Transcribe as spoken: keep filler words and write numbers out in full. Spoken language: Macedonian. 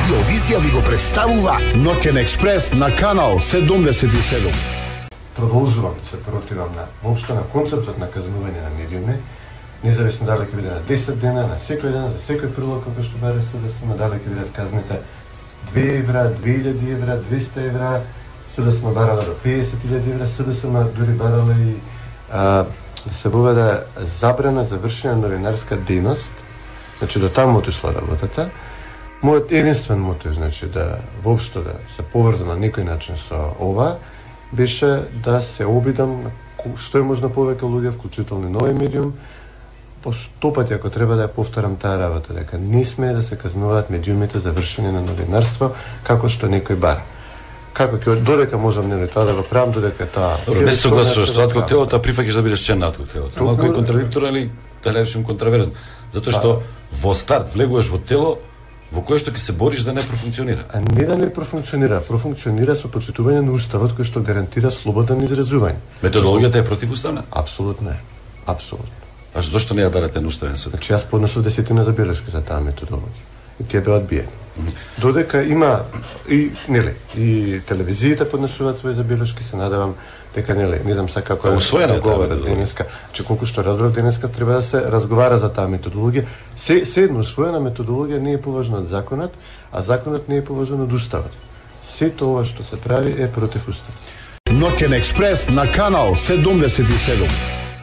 Радиовизија ви го представува Ноќен експрес на канал седумдесет и седум. Продолжувам се противам на воопшто на концептот на казнување на медиуми, независно дали ќе биде на десет дена, на секој ден, за секој прилог кој што баре се да се дали ќе бидат казните две евра, две илјади евра, двеста евра, се да сме барале до песет илјади евра, се да сме дури барале и а, да се воведе забрана за вршење на новинарска дејност. Значи до таму отишла работата. Мојот единствен мотив, значи да воопшто да се поврзам на некој начин со ова, беше да се обидам што е можно повеќе луѓе, вклучително нови медиум, по сто пати ако треба да ја повторам таа работа, дека не смее да се казнуваат медиумите за вршење на новинарство како што некој бара. Како ќе додека можам нели тоа да го правам, додека тоа. Добро, не се согласуваш со коктелот, а прифаќаш да бидеш член на коктелот. Малку е контрадикторно или да речем контраверзно, затоа што во старт влегуваш во тело во кое што ќе се бориш да не профункционира. А не да не профункционира, профункционира со почитување на уставот кој што гарантира слободен изразување. Методологијата е противуставна? Апсолутно е. Апсолутно. А зошто не ја дадете на уставен суд? Значи јас поднесов десетина забелешки за таа методологија. И тие беа одбиени. Додека има и нели и телевизиите поднесуваат своји забелешки, се надевам дека нели не знам сега како е усвоена говорат денеска, че колку што разбрав денеска треба да се разговара за таа методологија. Се се едно усвоена методологија не е поважна од законот, а законот не е поважен од уставот. Сето ова што се прави е против уставот. Ноќен експрес на канал седумдесет и седум.